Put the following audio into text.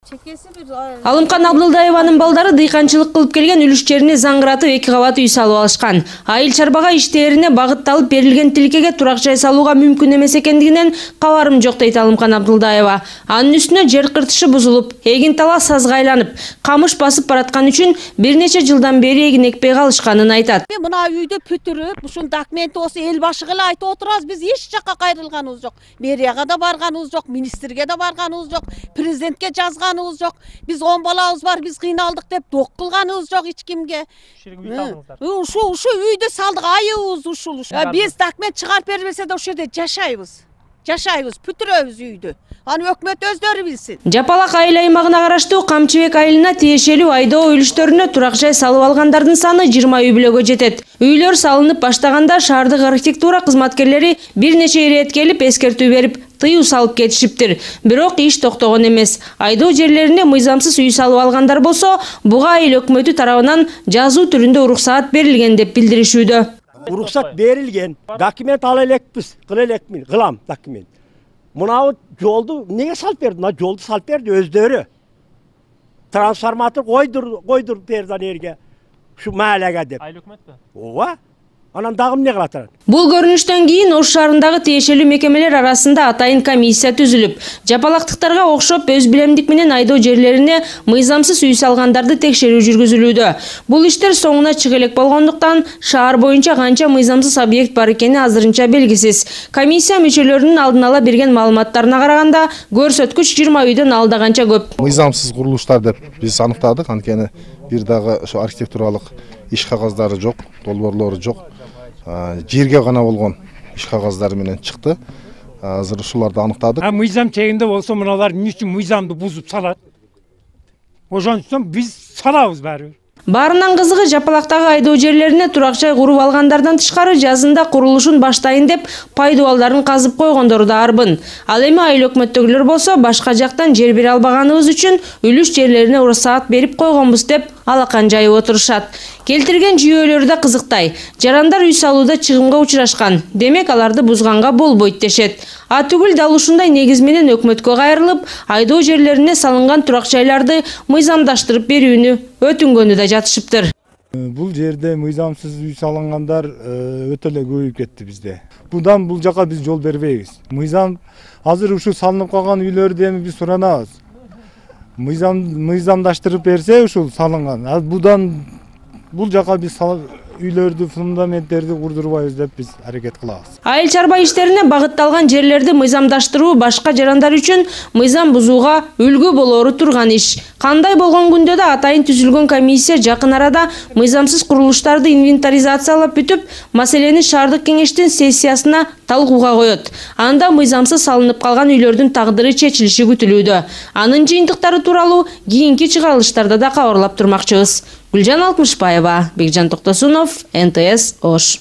Алымкан Абдылдаеванын балдары дыйканчылык кылып келген үлүш жерине заңгыратып 2 кабат үй салып алышкан. Айыл чарбага иштерине багытталып берилген тилкеге турак жай салууга мүмкүн эмес экендигинен кабарым жок дейт Алымкан Абдылдаева. Анын үстүнө жер кыртышы бузулуп, эгин тала сазга айланып, камыш басып бараткан үчүн бир нече жылдан бери эгин экпей калышканын айтат. Мына үйдү бүтүрүп, ушун документи болсо эл башыга эле айтып отурабыз, биз эч жакка кайрылганыбыз жок. Мэрияга да барганыбыз жок, министрге да барганыбыз жок, президентке жазганыбыз жок. Биз 10 балабыз бар, биз кыйналдык деп док кылганыбыз жок эч кимге. Ушу үйдү салдык, айыбыз ушул. Биз документ чыгарып бербесе да ошол жерде жашайбыз, бүтүрөбүз үйдү. Аны өкмөт өздөрү билсин. Жапалак айыл аймагына караштуу Камчыбек айылына тиешелүү айдоо үлүштөрүнө турак жай салып алгандардын саны 20 үй бүлөгө жетет. Үйлөр салынып баштаганда шаардык архитектура кызматкерлери бир нече ирет келип эскертүү берип, тыюу салып кетишиптир. Бирок иш токтогон эмес. Айдоо жерлерине мыйзамсыз үй салып алгандар болсо, буга айыл өкмөтү тарабынан жазуу түрүндө уруксаат берилген деп билдиришүүдө. Уруксат берилген, документ ала элекпиз, кылам документ. Мынау жолду неге салып берди? Мына жолду салып берди өздөрү. Трансформатор койдур берди жерге. Ушу маалага деп. Айыл өкмөтпү? Ооба. Анан дагы эмне кылат анан? Бул көрүнүштөн кийин Ош шаарындагы тиешелүү мекемелер арасында атайын комиссия түзүлүп, жапалактыктарга окшоп өз билемдик менен айдоо жерлерине мыйзамсыз үй салгандарды текшерүү жүргүзүлүүдө. Бул иштер соңуна чыга элек болгондуктан шаар боюнча канча мыйзамсыз объект бар экени азырынча белгисиз. Комиссия мүчөлөрүнүн алдын ала берген маалыматтарына караганда, көрсөткүч 20 үйдөн алда канча көп. Мыйзамсыз курулуштар деп биз аныктадык, анткени бир дагы ошо архитектуралык иш кагаздары жок, долбоорлору жок. Жерге гана болгон иш кагаздары менен чыкты. Азыр ушуларды аныктадык. Мыйзам чегинде болсо мыналар эмне үчүн мыйзамды бузуп салат? Ошон үчүн биз салабыз баары. Баарынан кызыгы жапалактагы айдоо жерлерине турак жай куруп алгандардан тышкары жазында курулушун баштайын деп пайдубалдарын казып койгондору да арбын. Ал эми айыл өкмөттөгүлөр болсо башка жактан жер бере албаганыбыз үчүн үлүш жерлерине уруксаат берип койгонбуз деп алакан жайып отурушат. Келтирген жүйөлөрү да кызыктай. Жарандар үй салууда чыгымга учурашкан. Демек аларды бузганга болбойт дешет. Түгүл дал ушундай негиз менен өкмөткө кайрылып, айдоо жерлерине салынган турак жайларды мыйзамдаштырып берүүнү өтүнгөнү да жатышыптыр. Бул жерде мыйзамсыз үй салынгандар өтө эле көбөйүп кетти бизде. Будан бул жака биз жол бербейбиз. Мыйзам азыр ушул салынып калган үйлөрдү эми биз суранабыз. Мыйзамдаштырып берсе ушул салынган. Будан бул жака биз үйлөрдү, фундаменттерди курдурбайбыз деп биз аракет кылабыз. Айыл чарба иштерине багытталган жерлерди мыйзамдаштыруу башка жарандар үчүн мыйзам бузууга үлгү болору турган иш. Кандай болгон күндө да атайын түзүлгөн комиссия жакын арада мыйзамсыз курулуштарды инвентаризациялап бүтүп, маселени шаардык кеңештин сессиясына талкууга коет. Анда мыйзамсыз салынып калган үйлөрдүн тагдыры чечилиши күтүлүүдө. Анын жыйынтыктары тууралуу кийинки чыгарылыштарда да кабарлап турмакчыбыз. Гүлжан Алтмышбаева, Бекжан Токтосунов, НТС Ош.